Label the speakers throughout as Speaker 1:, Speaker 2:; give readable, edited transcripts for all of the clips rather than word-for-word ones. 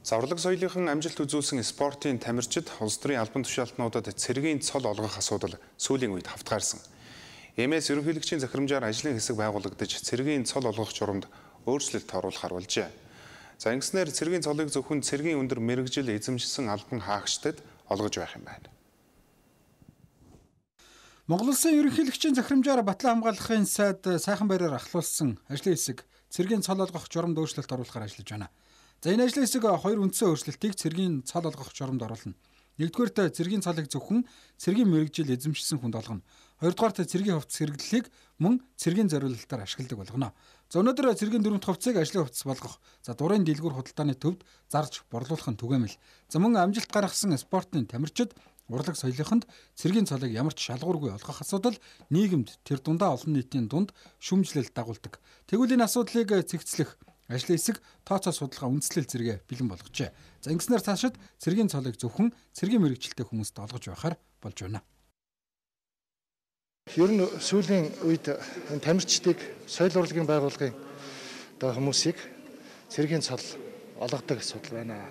Speaker 1: Зовлог соёлынхан амжилт үзүүлсэн спортын тамирчид улс төрийн албан тушаалтнуудад цэргийн цол олгох асуудал сүүлийн үед хавтгаарсан. ЕМС ерөнхийлөгчийн захирамжаар ажлын хэсэг байгуулагдаж цэргийн цол олгох журамд өөрчлөлт оруулахар болжээ. За ингэснээр цэргийн цолыг зөвхөн цэргийн өндөр мэргэжил эзэмшсэн албан хаагчдад олгож байх юм байна.
Speaker 2: Монгол Улсын ерөнхийлөгчийн захирамжаар Батлан хамгаалахын сайд сайхан байраар ахлуулсан ажлын хэсэг цэргийн цол олгох журамд өөрчлөлт оруулахар ажиллаж байна. За энэ ажлын хэсэг хоёр үндсэн өөрчлөлтийг цэргийн цол олгох журамд оруулна. Нэгдүгээрт цэргийн цолыг зөвхөн цэргийн мэргэжил эзэмшсэн хүнд олгоно. Хоёрдугаарт цэргийн хувцас хэрэглэлийг мөн цэргийн зориулалтаар ашигладаг болгоно. За өнөөдөр цэргийн дөрөвт хувцсыг ажлын хувцас болгох, дурын дэлгүүр худалдааны төвд зарж борлуулах нь түгээмэл. За мөн амжилт гаргасан спортын тамирчид урлаг соёлынханд цэргийн цолыг ямар ч шалгуургүй олгох асуудал нийгэмд тэр дундаа олон нийтийн дунд шүүмжлэл дагуулдаг. Тэгвэл энэ асуудлыг цэгцлэх ажлын хэсэг тооцоо судалгаа үндэслэл зэрэг бэлэн болгожээ. За ингэснээр цаашид цэргийн цолыг зөвхөн цэргийн мэргэжилтэй хүмүүст олгож байхаар болж байна.
Speaker 3: Ер нь сүүлийн үед энэ тамирчдыг соёл урлагийн байгууллагын хүмүүсийг цэргийн цол олгодог асуудал байна.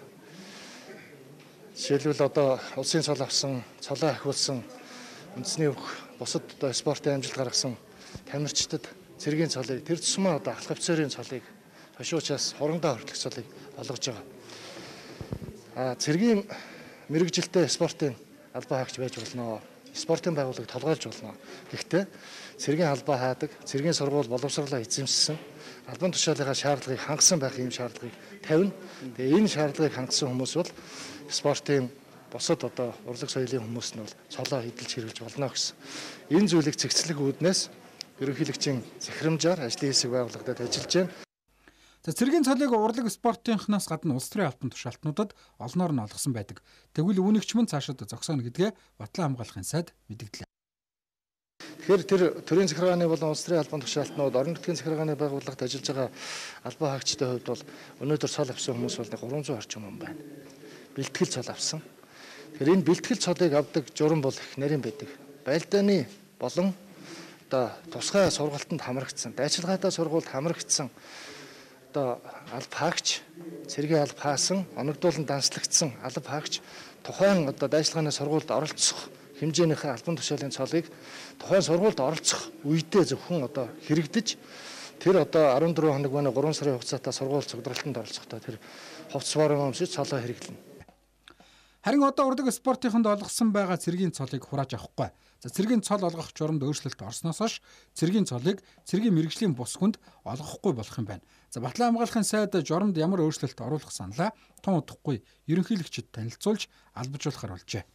Speaker 3: Жишээлбэл одоо улсын цол авсан, цолоо ахиулсан, үндэсний бусад спортын амжилт гаргасан тамирчдад цэргийн цолыг тэр тусмаа одоо алх офицерын цолыг хошуучаас хурандаа хүртэлх цолыг олгож байгаа. Цэргийн мэргэжилтэй спортын албан хаагч байж болно. Спортын байгууллагыг толгойлж болно. Гэхдээ цэргийн албаа хаадаг, цэргийн сургууль боловсруулалтаа эзэмшсэн, албан тушаалынхаа шаардлагыг хангасан байх юм шаардлагыг тавина. Тэгээ энэ шаардлагыг хангасан хүмүүс бол спортын бусад одоо урлаг соёлын хүмүүс нь бол цолоо эдэлж хэрэглэж болно гэсэн. Энэ зүйлийг цэгцлэх үүднээс ерөнхийлөгчийн захирамжаар ажлын хэсэг байгуулагдаад ажиллаж байна.
Speaker 2: За цэргийн цолыг урлаг спортынхнаас гадна улс төрийн албан тушаалтнуудад олноор нь олгосон байдаг. Тэгвэл үүнийгч мөн цаашид зогсооно гэдгээ Батлан хамгаалахын сайд мэдгдлээ.
Speaker 3: Тэгэхээр тэр төрийн захиргааны болон улс төрийн албан тушаалтнууд орон нутгийн захиргааны байгууллагад ажиллаж байгаа албан хаагчдын хувьд бол өнөөдөр цол авсан хүмүүс бол 300 орчим хүн байна. Бэлтгэл цол авсан. Тэгэхээр энэ бэлтгэл цолыг авдаг журам бол их нарийн байдаг. Байлдааны болон одоо тусгай сургалтанд хамрагдсан, дайчилгаатай сургуульд хамрагдсан одоо алба хаагч, цэргийн алба хаасан, оногдуулан данслагдсан алба хаагч тухайн одоо дайчилгааны сургуульд оролцох хэмжээнийхээ албан тушаалын цолыг тухайн сургуульд оролцох үедээ зөвхөн одоо хэрэгдэж тэр одоо 14 хоног байна 3 сарын хугацаатай сургууль цогцолтонд оролцохдоо тэр хувцас борон өмсөж цолоо хэрэглэнэ.
Speaker 2: Харин одоо урлаг спортынханд олгосон байгаа цэргийн цолыг хурааж авахгүй. За цэргийн цол олгох журамд өөрчлөлт орсноос хойш цэргийн цолыг цэргийн мэргэжлийн бус хүнд олгохгүй болох юм байна. За Батлан хамгаалахын сайд журамд ямар өөрчлөлт оруулах саналаа тун удахгүй ерөнхийлөгчөд танилцуулж албажуулахар болжээ.